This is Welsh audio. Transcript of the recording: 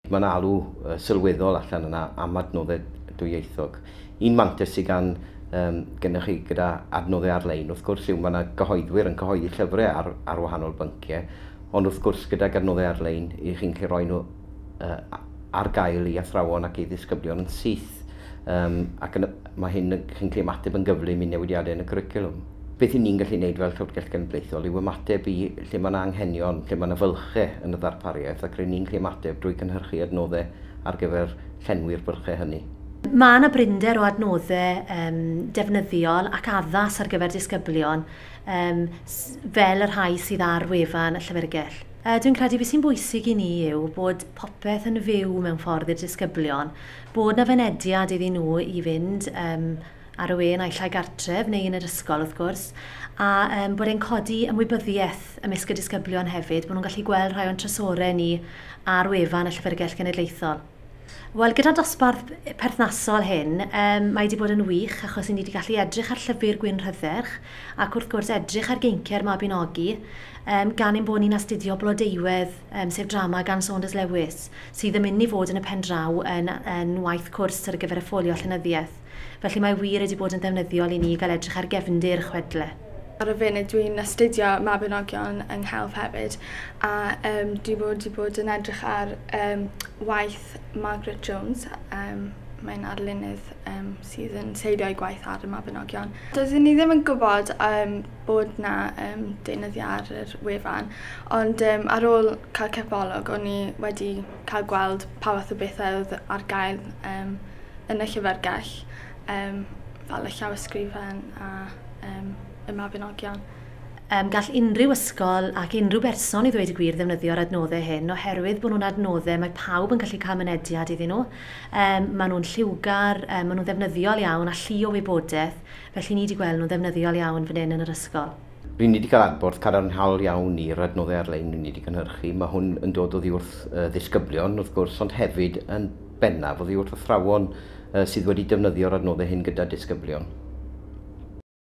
Mae'n alw sylweddol allan yna am adnoddau dwyieithog. Un mantais sydd gan gennych chi gyda adnoddau ar-lein, wrth gwrs, yw mae yna gyhoeddwyr yn cyhoeddi llyfrau ar wahanol bynciau, ond wrth gwrs gydag adnoddau ar-lein, i chi'n gallu rhoi nhw ar gael i athrawon ac i ddisgyblion yn syth. Ac mae hyn, chi'n gallu ymateb yn gyflym i newidiadau yn y cwricwlwm. Beth i ni'n gallu gwneud fel Llyfrgell Genedlaethol yw ymateb i lle mae yna anghenion, lle mae yna fylchau yn y ddarpariaeth, ac rydyn ni'n gallu ymateb drwy cynhyrchu adnoddau ar gyfer llenwi'r bylchau hynny. Mae yna brinder o adnoddau defnyddiol ac addas ar gyfer disgyblion fel y rhai sydd ar wefan y llyfrgell. Dwi'n credu beth sy'n bwysig i ni yw bod popeth yn fyw mewn ffordd i'r disgyblion, bod na fynediad iddyn nhw i fynd ar y we naill ai gartref neu yn yr ysgol wrth gwrs, a bod e'n codi ymwybyddiaeth ymysg y disgyblion hefyd, bod nhw'n gallu gweld rhai o'n trysorau ni ar wefan y Llyfrgell Genedlaethol. Wel, gyda dosbarth perthnasol hyn, mae wedi bod yn wych achos ni wedi gallu edrych ar llyfr Gwyn Rhydderch ac wrth gwrs edrych ar geinciau'r Mabinogi, gan ein bod ni'n astudio Blodeuwedd, sef drama gan Saunders Lewis, sydd yn mynd i fod yn y pen draw yn waith cwrs ar gyfer y ffolio llenyddiaeth. Felly mae wir wedi bod yn ddefnyddiol i ni gael edrych ar gefndir chwedle. Ar y funud dwi'n astudio Mabinogion yng nghelf hefyd, a dwi wedi bod yn edrych ar waith Margaret Jones. Mae'n arlunydd sydd yn seilio ei gwaith ar y Mabinogion. Doeddwn ni ddim yn gwybod bod na deunyddiau ar yr wefan, ond ar ôl cael cipolwg o'n i wedi cael gweld pa fath o bethau oedd ar gael yn y llyfrgell, fel y llawysgrifen a y Mabinogion. Gall unrhyw ysgol ac unrhyw berson i ddweud y gwir ddefnyddio'r adnoddau hyn oherwydd bod nhw'n adnoddau mae pawb yn gallu cael mynediad iddyn nhw. Maen nhw'n lliwgar, maen nhw'n ddefnyddiol iawn a llu o wybodaeth, felly ni wedi gweld nhw'n ddefnyddiol iawn fan hyn yn yr ysgol. Ry'n ni wedi cael adborth cadarnhaol iawn i'r adnoddau ar-lein ni wedi cynhyrchu. Mae hwn yn dod oddi wrth ddisgyblion, wrth gwrs, ond hefyd yn bennaf oddi wrth athrawon sydd wedi defnyddio'r adnoddau hyn gyda disgyblion.